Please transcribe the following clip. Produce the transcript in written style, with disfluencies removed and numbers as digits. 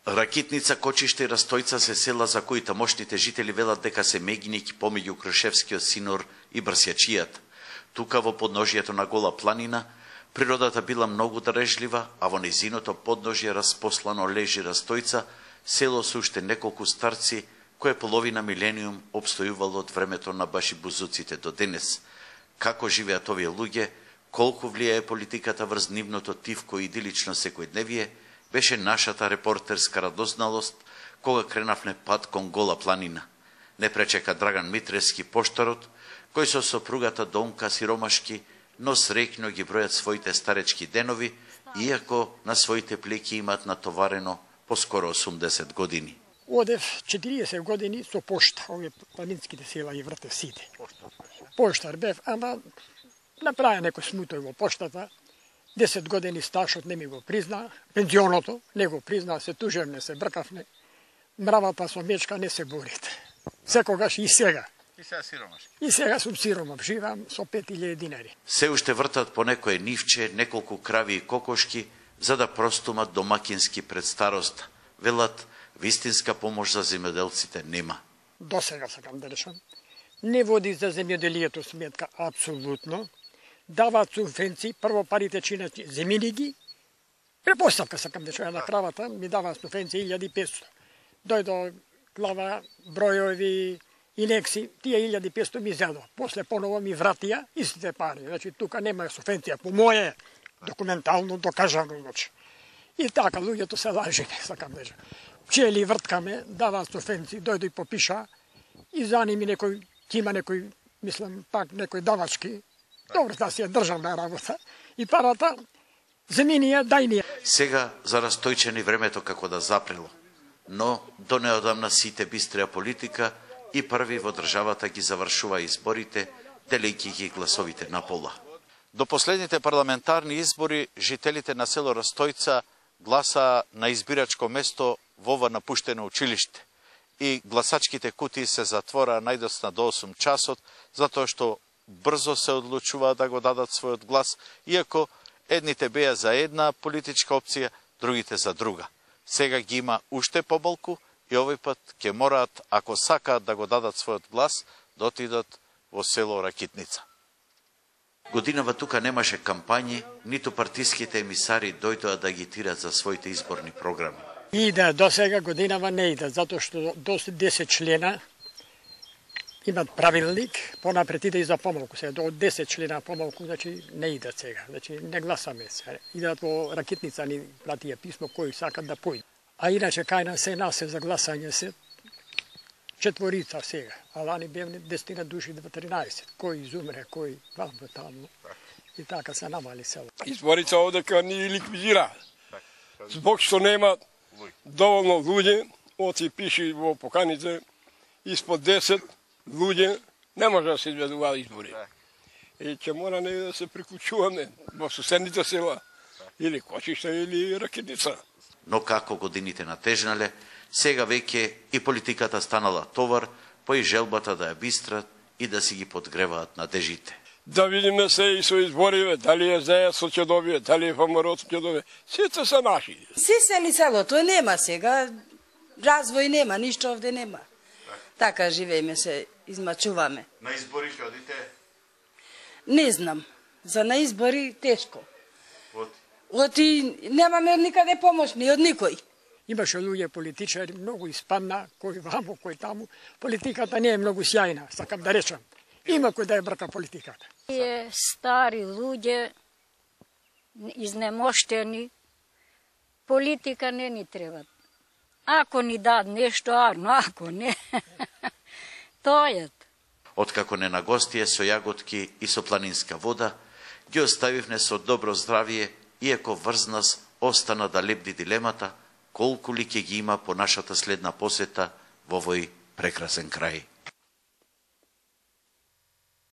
Ракитница, Кочиште и Растојца се села за кои тамошните жители велат дека се мегињки помеѓу Крушевскиот синор и Брсјачијат. Тука во подножието на Гола планина, природата била многу дарежлива, а во незиното подножје распослано лежи Растојца, село со уште неколку старци, кое половина милениум обстојувало од времето на башибузуците до денес. Како живеат овие луѓе, колку влијае политиката врз нивното тивко и идилично секојдневие, беше нашата репортерска радозналост кога кренавме пат кон Гола планина. Не пречека Драган Митревски поштарот, кој со сопругата Донка сиромашки, но среќно ги бројат своите старечки денови, иако на своите плеки имаат натоварено поскоро 80 години. Одев 40 години со пошта, овие планинските села и вртев сите. Поштар бев, ама направи некој смутој во поштата. 10 години стажот не ми го призна, пензионото не го призна, се тужевме, се бркавме. Мравата со мечка не се борите. Секогаш и сега. И сега сиромашки. И сега сум сиромав, живам со 5000 динари. Се уште вртат по некое нивче, неколку крави и кокошки, за да простумат домакински пред старост. Велат, вистинска помош за земјоделците нема. До сега сакам да решам. Не води за земјоделието сметка апсолутно. Даваат субвенции, прво парите чинат земјини ги. Препоставка сакам да чуја на кравата, ми даваат субвенции 1500. Дојдо глава, бројови, инекси, тие 1500 ми зедо. После поново ми вратија истите пари. Значи, тука нема субвенција по моје документално докажано. Значи. И така, луѓето се лажеме, сакам да кажам. Пчели врткаме, даваат субвенции, дојдо и попиша, и за ними некој, има некој, мислам, пак некој давачки. Добро, да си ја државна работа. И парата, земјинија, дајнија. Сега за Растојчани времето како да запрело. Но до неодамна сите бистреа политика и први во државата ги завршува изборите, делејќи ги гласовите на пола. До последните парламентарни избори, жителите на село Растојца гласа на избирачко место во ова напуштено училиште. И гласачките кутии се затвора најдосна до 8 часот, затоа што брзо се одлучуваат да го дадат својот глас, иако едните беа за една политичка опција, другите за друга. Сега ги има уште поболку и овој пат ќе мораат, ако сакаат да го дадат својот глас, да отидат во село Ракитница. Годинава тука немаше кампањи, ниту партиските емисари дојдоа да агитираат за своите изборни програми. Иде, до сега годинава не иде, затоа што до 10 члена имат правилник, понапред иде и за помалку. Сега до 10 члена помалку, значи не идат сега. Значи не гласаме сега. Идат во Ракитница, ни пратија писмо кои сакат да појдат. А иначе кај нас се насе за гласање се 4 сега. А лани бевне 10 души до 13. Кој изумре, кој вамбо таму. И така се намали село. Изборите овдека ни ликвидира. Због што нема доволно луѓе, оти пиши во поканите, испод 10 луѓе не може да се изведуваат избори. И ќе мора не да се приклучуваме во соседните села, или Кочиште, или Ракитница. Но како годините натежнале, сега веќе и политиката станала товар, по и желбата да ја бистрат и да си ги подгреваат надежите. Да видиме се и со избориве, дали е ЗЕС ќе добие, дали е ВМРО ќе добие. Сите се наши. Сисели селото нема сега, развој нема, ништо овде нема. Така живееме се, измачуваме. На избори ќе одите? Не знам. За на избори тешко. Оти немаме никаде помош, ни од никој. Имаше луѓе политичари, многу испадна, кој вамо, кој таму. Политиката не е многу сјајна, сакам да речам. Има кој да ја брка политиката. Тие стари луѓе, изнемоштени, политика не ни треба. Ако ни дад нешто, арно, ако не, тојат. Откако не на гостие со јаготки и со планинска вода, ги оставивме со добро здравие, иако врз нас остана да лебди дилемата, колку ли ќе ги има по нашата следна посета во овој прекрасен крај.